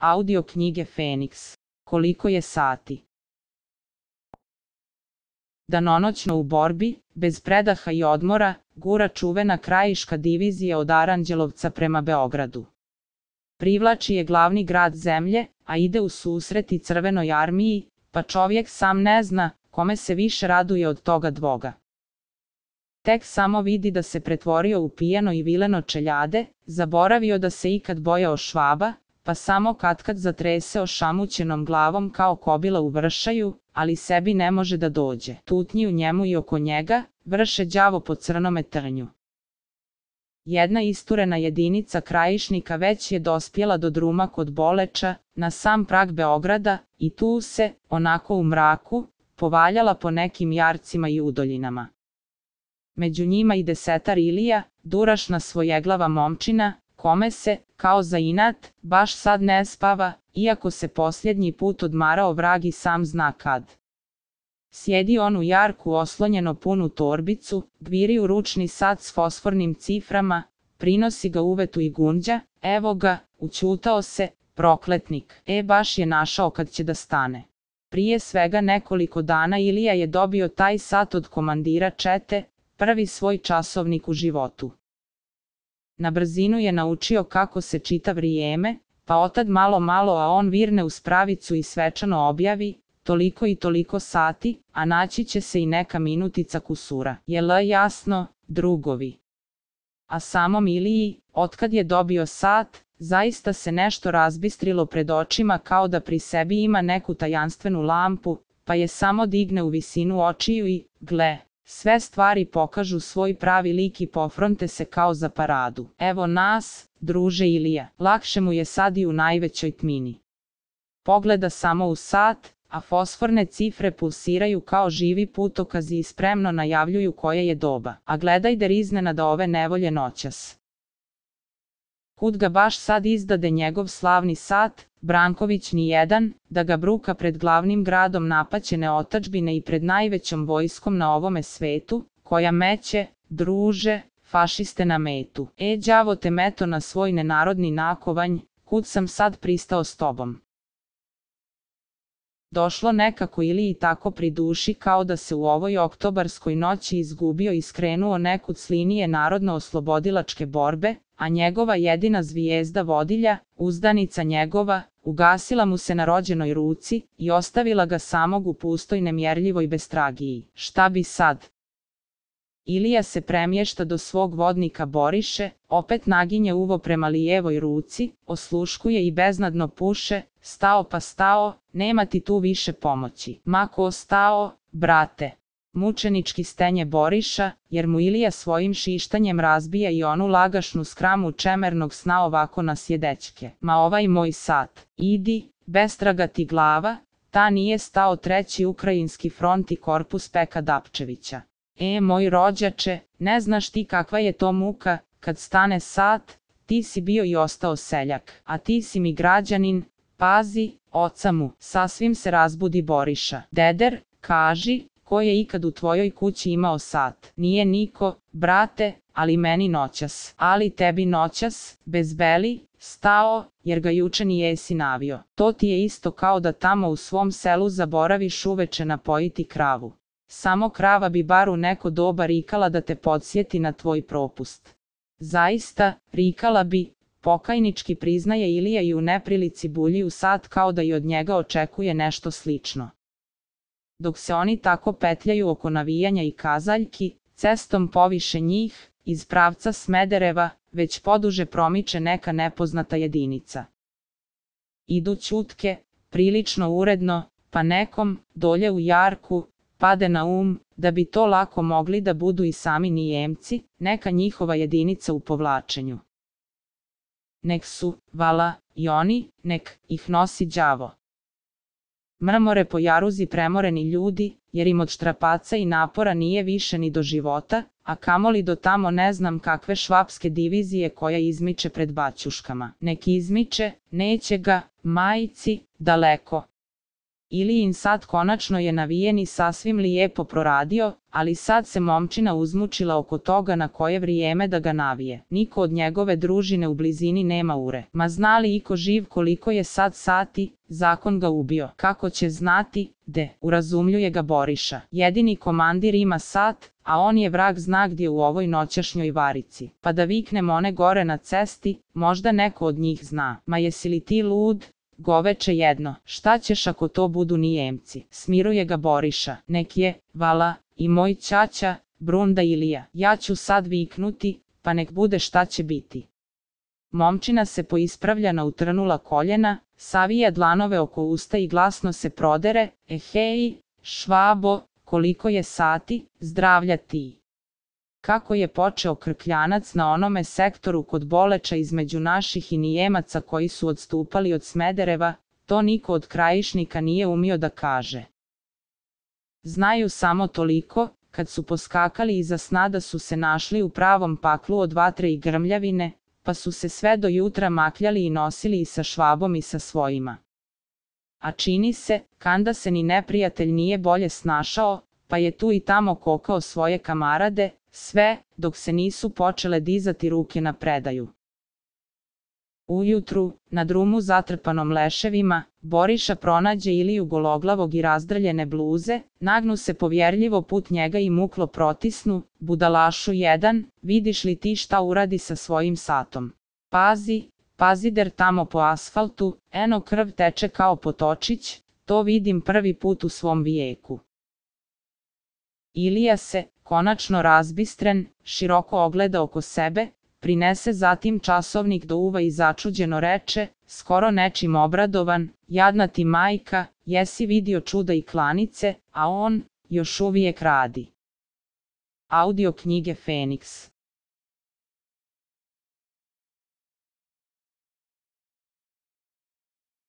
Audio knjige Feniks. Koliko je sati? Danonoćno u borbi, bez predaha i odmora, gura čuvena krajiška divizija od Aranđelovca prema Beogradu. Privlači je glavni grad zemlje, a ide u susret i Crvenoj armiji, pa čovjek sam ne zna kome se više raduje od toga dvoga. Tek samo vidi da se pretvorio u pijano i vileno čeljade, zaboravio da se ikad bojao Švaba, pa samo katkad zatrese ošamućenom glavom kao kobila u vršaju, ali sebi ne može da dođe. Tutnji u njemu i oko njega vrše đavo po crnome trnju. Jedna isturena jedinica krajišnika već je dospjela do druma kod Boleča, na sam prag Beograda, i tu se, onako u mraku, povaljala po nekim jarcima i udoljinama. Među njima i 10 Ilija, durašna svojeglava momčina, kome se, kao za inat, baš sad ne spava, iako se posljednji put odmarao vrag i sam zna kad. Sjedi on u jarku oslonjeno punu torbicu, gviri u ručni sat s fosfornim ciframa, prinosi ga uvetu i gunđa, evo ga, učutao se, prokletnik, baš je našao kad će da stane. Prije svega nekoliko dana Ilija je dobio taj sat od komandira čete, prvi svoj časovnik u životu. Na brzinu je naučio kako se čita vrijeme, pa otad malo a on virne u spravicu i svečano objavi, toliko i toliko sati, a naći će se i neka minutica kusura. Jel jasno, drugovi? A samom Iliji, otkad je dobio sat, zaista se nešto razbistrilo pred očima kao da pri sebi ima neku tajanstvenu lampu, pa je samo digne u visinu očiju i, gle, sve stvari pokažu svoj pravi lik i pofronte se kao za paradu. Evo nas, druže Ilija, lakše mu je sad i u najvećoj tmini. Pogleda samo u sat, a fosforne cifre pulsiraju kao živi putokazi i spremno najavljuju koje je doba. A gledaj der iznenada ove nevolje noćas. Kud ga baš sad izdade njegov slavni sat, Branković ni jedan, da ga bruka pred glavnim gradom napaćene otadžbine i pred najvećom vojskom na ovome svetu, koja meće, druže, fašiste na metu. Đavo te meto na svoj nenarodni nakovanj, kud sam sad pristao s tobom. Došlo nekako Iliji tako pri duši kao da se u ovoj oktobarskoj noći izgubio i skrenuo nekud s linije narodno-oslobodilačke borbe, a njegova jedina zvijezda vodilja, uzdanica njegova, ugasila mu se na rođenoj ruci i ostavila ga samog u pustoj nemjerljivoj bestragiji. Šta bi sad? Ilija se premješta do svog vodnika Boriše, opet naginje uvo prema lijevoj ruci, osluškuje i beznadno puše, stao pa stao, nema ti tu više pomoći. Ma ko stao, brate? Mučenički stenje Boriša, jer mu Ilija svojim šištanjem razbija i onu lagašnu skramu čemernog sna ovako na sjedečke. Ma ovaj moj sat, idi, bestraga ti glava, ta nije stao 3. Ukrajinski front i korpus Peka Dapčevića. Moj rođače, ne znaš ti kakva je to muka, kad stane sat, ti si bio i ostao seljak, a ti si mi građanin, pazi, oca mu, sasvim se razbudi Boriša. Deder, kaži, ko je ikad u tvojoj kući imao sat? Nije niko, brate, ali meni noćas. Ali tebi noćas, bez beli, stao, jer ga juče nijesi navio. To ti je isto kao da tamo u svom selu zaboraviš uveče napojiti kravu. Samo krava bi bar u neko doba rikala da te podsjeti na tvoj propust. Zaista, rikala bi, pokajnički priznaje Ilija i u neprilici bulji u sat kao da i od njega očekuje nešto slično. Dok se oni tako petljaju oko navijanja i kazaljki, cestom poviše njih, iz pravca Smedereva, već poduže promiče neka nepoznata jedinica. Idu ćutke, prilično uredno, pa nekom, dolje u jarku, pade na da bi to lako mogli da budu i sami Nijemci, neka njihova jedinica u povlačenju. Nek su, vala, i oni, nek ih nosi đavo. Mrmore po jaruzi premoreni ljudi, jer im od štrapaca i napora nije više ni do života, a kamoli do tamo ne znam kakve švapske divizije koja izmiče pred baćuškama. Nek izmiče, neće ga, majici, daleko. Ilijin sat konačno je navijen i sasvim lijepo proradio, ali sad se momčina uzmučila oko toga na koje vrijeme da ga navije. Niko od njegove družine u blizini nema ure. Ma zna li iko živ koliko je sad sati? Zakon ga ubio. Kako će znati? Urazumljuje ga Boriša. Jedini komandir ima sat, a on je vrag zna gdje u ovoj noćašnjoj varici. Pa da viknem one gore na cesti, možda neko od njih zna. Ma jesi li ti lud? Goveče jedno, šta ćeš ako to budu Nijemci? Smiruje ga Boriša. Nek je, vala, i moj ćaća, Brunda Ilija. Ja ću sad viknuti, pa nek bude šta će biti. Momčina se poispravlja na utrnula koljena, savija dlanove oko usta i glasno se prodere, hej, Švabo, koliko je sati, zdravlja ti. Kako je počeo krkljanac na onome sektoru kod Boleča između naših i Nijemaca koji su odstupali od Smedereva, to niko od Krajišnika nije umio da kaže. Znaju samo toliko, kad su poskakali iza sna da su se našli u pravom paklu od vatre i grmljavine, pa su se sve do jutra makljali i nosili i sa Švabom i sa svojima. A čini se, kanda se ni neprijatelj nije bolje snašao, pa je tu i tamo kokao svoje kamarade, sve, dok se nisu počele dizati ruke na predaju. Ujutru, na drumu zatrpanom leševima, Boriša pronađe Iliju gologlavog i razdrljene bluze, nagnu se povjerljivo put njega i muklo protisnu, budalašu jedan, vidiš li ti šta uradi sa svojim satom? Pazi der tamo po asfaltu, eno krv teče kao potočić, to vidim prvi put u svom vijeku. Ilija se, konačno razbistren, široko ogleda oko sebe, prinese zatim časovnik do uva i začuđeno reče, skoro nečim obradovan, jadna ti majka, jesi vidio čuda i klanice, a on, još uvijek radi. Audio knjige Feniks.